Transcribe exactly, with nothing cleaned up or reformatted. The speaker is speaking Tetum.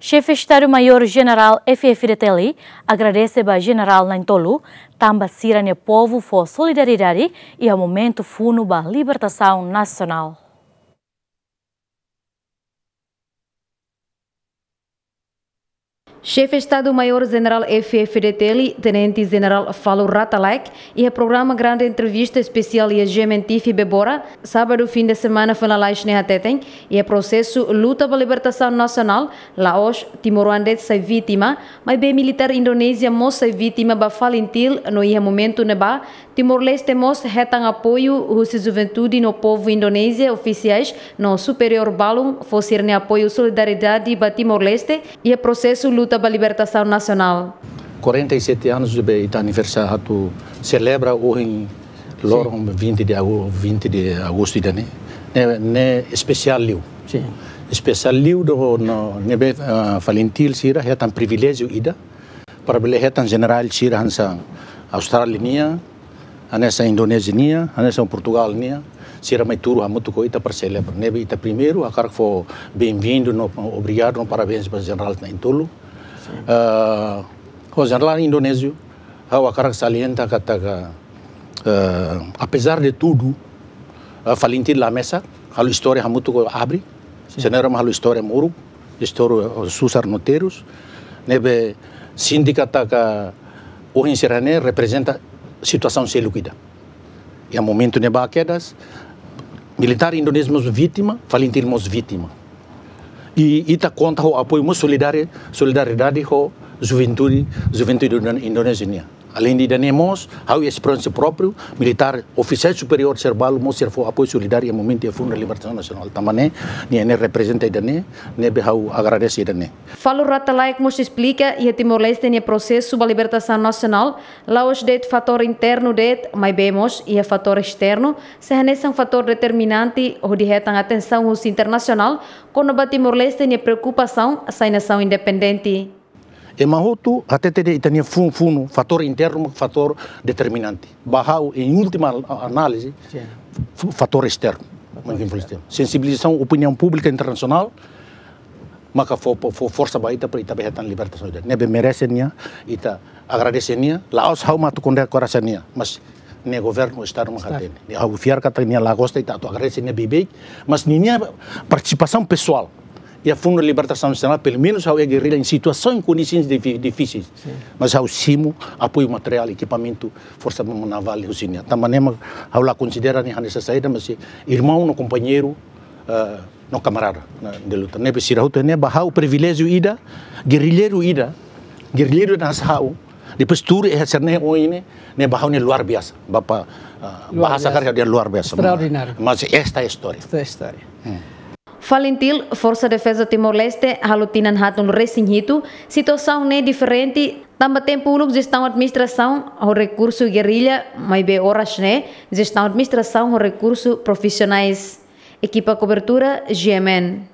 Xefe Estadu Maiór Jenerál F-FDTL agradese ba jenerál na'in-tolu, tanba sira-nia povu fó solidariedade iha momentu funu ba libertasaun nasionál. Xefe Estadu Maiór Jenerál F-FDTL, Tenente Jenerál Falur Ratalaek, iha programa Grande Entrevista Espesiál iha G M N T V Bebora, sábadu fin de semana foin lalais ne'e hateten, iha prosesu luta ba libertasaun nasionál, la'ós timoroan de'it sai vítima, maibé militár Indonézia mós sai vítima ba FALINTIL no iha momentu ne'ebá, Timor-Leste mós hetan apoiu husi juventude no povu Indonézia, ofisiais no superiór balun fó sira-nia apoiu solidariedade ba Timor-Leste iha prosesu luta ba libertasaun nasionál. Quarenta e sete anos de ita aniversáriu atu selebra ohin loron vinte de agu-, vinte de agostu ida-ne'e. Ne'e, ne'e espesiál liu. Sin. Espesiál liu do no, ne'ebé, ah, FALINTIL sira hetan priviléjiu ida para bele hetan jenerál sira hanesan Austrália nian, hanesan Indonézia nian, hanesan Portugál nian, sira mai tuur hamutuk ho ita para selebra. Ne'ebé ita primeiru hakarak fó benvindu no obrigadu no parabéns ba jenerál na'in-tolu. Sin. Ah, ho jenerál indonéziu, ha'u hakarak salienta katak, eh, apezar de tudu, eh, FALINTIL la mesak, halo istória hamutuk ho abri, sin, sira ne'e mak halo istória moruk, istória, eh, susar no terus, ne'ebé sente katak ohin sira-ne'e reprezenta situasaun seluk ida. Iha momentu ne'ebá kedas, militár Indonézia mós vítima, FALINTIL mós vítima. I ita konta ho apoiu mós solidari-, solidariedade ho juventude, juventude Indo-, Indonézia nian. Aleinde ida-ne'e mós, ha'u esperiénsia própriu, militár, ofisiál superiór sira balu mós sira fó apoiu solidáriu iha momentu iha funu libertasaun nasionál. Tanba ne'e, nia ne'e reprezenta ida-ne'e, ne'ebé ha'u agradese ida-ne'e. Falur Ratalaek mós esplika, iha Timor-Leste nia prosesu ba libertasaun nasionál, la'ós de'it fatór internu de'it, maibé mós iha fatór esternu, sei hanesan fatór determinante hodi hetan atensaun husi internasionál kona-ba Timor-Leste nia preokupasaun sai nasaun independente. Ema hotu hatete de'it ita-nia funu-funu, fatór internu, fatór determinante. Ba ha'u, em última a-, análise, sin, f-, fatór esternu. Fatór esternu. Sensibilizasaun opiniaun públika internasionál, maka fó, fó, fó forsa ba ita para ita bele hetan libertasaun ida. Ne'ebé merese nia, ita agradese nia, la'ós ha'u mak atu kondena korasaun nia, mas nia governu, Estadu mak, Estadu, hatene. Nia, ha'u fiar katak nia la gosta ita atu agradese nia beibeik, mas ninia partisipasaun pesoál iha funu libertasaun nasionál, pelumenus ha'u iha gerrilla em situasaun, em kondisaun difi-, difíseis. Sin. Mas ha'u simu apoiu materiál, ekipamentu, forsa navál husi nia. Tanba ne'e mak ha'u la konsidera nia hanesan saida, mas irmaun no kompañeiru, eh, no kamarada, na, de luta. Ne'ebé sira hotu ne'e ba ha'u priviléjiu ida, gerrilleiru ida, gerrilleiru ida hanesan ha'u, depois tuur iha sira-ne'e ohin ne'e, ne'e ba ha'u ne'e luar biasa. Bapa, ah, luar biasa. Bahasa karik dehan luar biasa. Extraordinário. Mas esta é a história. Esta é a história. Hmm. FALINTIL, Forsa Defeza Timor-Leste, halo tinan haatnulu-resin-hitu, situasaun ne'e diferente, tanba tempu uluk jestaun administrasaun ho rekursu gerrilla, maibé oras ne'e, jestaun administrasaun ho rekursu profisionais. Ekipa kobertura, G M N.